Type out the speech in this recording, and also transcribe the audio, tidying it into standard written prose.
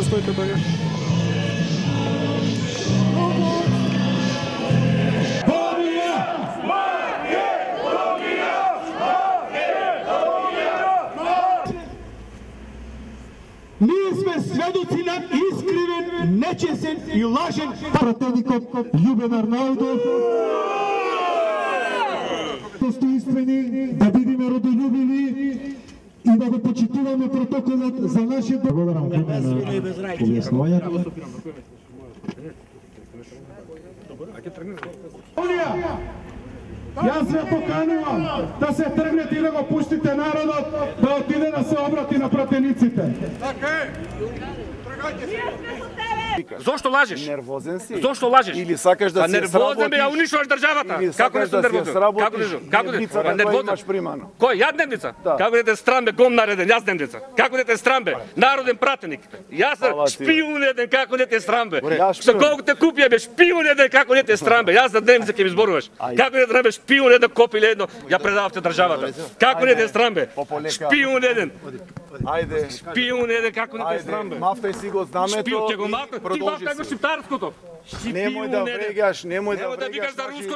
стоите тогаш. Ние сме сведоци на искривен, нечесен и лажен пратеникот Љубен Арнаудов. Постоинствени, да бидеме родолюбиви и да го почитуваме протоколот за нашиот... Благодарам на објаснувањето. Јас ве поканувам да се тргнете и да го пуштите народот да отиде да се обрати на пратениците. Така е. Тргајте се. Зошто лажеш? Нервозен си? Зошто лажеш? Или сакаш да се сработиш? Нервозен бе, ја унишуваш државата. Или Како не сакаш сум да се нервозен? сработиш Како дневницата која имаш примано? Кој? Ја дневница? Да. Како дете срам бе, гом нареден, јас дневница. Како дете срам бе, народен пратеник. Јас шпион еден, како дете срам бе. Со колку те купија бе, шпион еден, како дете срам бе. Јас за дневница ќе ми зборуваш. Како дете срам бе, шпион еден, копиле едно, ја предававте државата. Како дете срам бе, шпион еден. Ајде. Шпион еден, како дете срам бе. Мафтај си го знамето. Шпион ќе го мафта, ти мафтај го шиптарското. Немој да врегаш, немој да викаш за руското.